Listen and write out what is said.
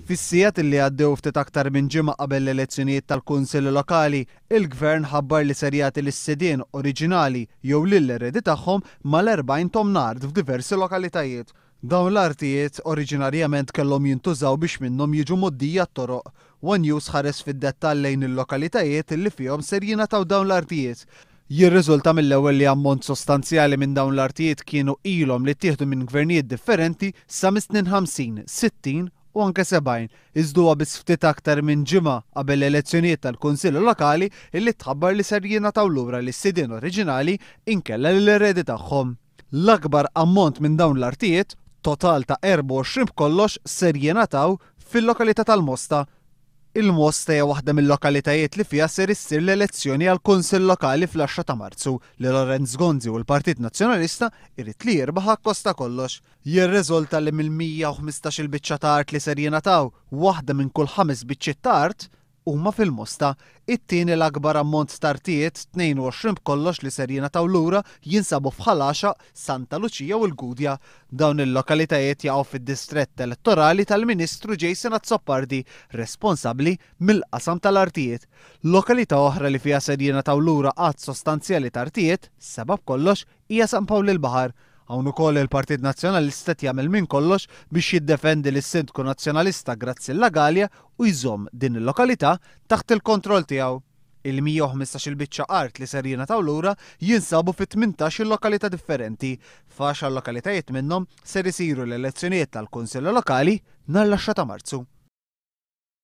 Fis-sigħat li għaddew ftit aktar minn ġimgħa qabel l-elezzjonijiet tal-Kunsilli Lokali, il-Gvern ħabbar li ser jagħti lis-sidien oriġinali jew lill-eredi tagħhom mal-40 tomna art f'diversi lokalitajiet. Dawn l-artijiet oriġinarjament kellhom jintużaw biex minnhom jiġu mgħoddija t-toroq. One News ħares fid-dettall lejn il-lokalitajiet li fihom ser jingħataw dawn l-artijiet. Jirriżulta mill-ewwel li ammont sostanzjali minn dawn l-artijiet kienu ilhom li ttieħdu minn gvernijiet differenti sa mis-snin 50, 60 u anke 70, iżda huwa biss ftit aktar minn ġimgħa qabel l-elezzjonijiet tal-Kunsilli Lokali illi tħabbar li ser jingħataw lura lis-sidien oriġinali inkella lill-eredi tagħhom. L-akbar ammont minn dawn l-artijiet, total ta' 24 b'kollox, ser jingħataw fil-lokalità tal-Mosta. Il-Mosta hija waħda mil-lokalitajiet li fiha ser issir l-elezzjoni għall-Kunsill Lokali fl-10 ta' Marzu, li Lawrence Gonzi u l-Partit Nazzjonalista jrid li jirbaħ akkost ta' kollox. Jirriżulta li mill-115-il biċċa ta' art li ser jingħataw, waħda minn kull ħames biċċiet ta' art huma fil-Mosta. It-tieni l-akbar ammont ta' artijiet, 22 b'kollox li ser jingħataw lura jinsabu f'Ħal Għaxaq, Santa Luċija u l-Gudja. Dawn il-lokalitajiet jaqgħu fid-distrett elettorali tal-Ministru Jason Azzopardi, responsabbli mill-qasam tal-artijiet. Lokalità oħra li fiha ser jingħataw lura għadd sostanzjali ta' artijiet, seba' b'kollox, hija San Pawl il-Baħar. Hawn ukoll il-Partit Nazzjonalista qed jagħmel minn kollox biex jiddefendi lis-Sindku Nazzjonalista Graziella Galea u jżomm din il-lokalità taħt il-kontroll tiegħu. Il-115-il biċċa art li ser jingħataw lura jinsabu fi 18-il lokalità differenti. F'għaxar lokalitajiet minnhom ser isiru l-elezzjonijiet tal-Kunsilli Lokali nhar l-10 ta' Marzu.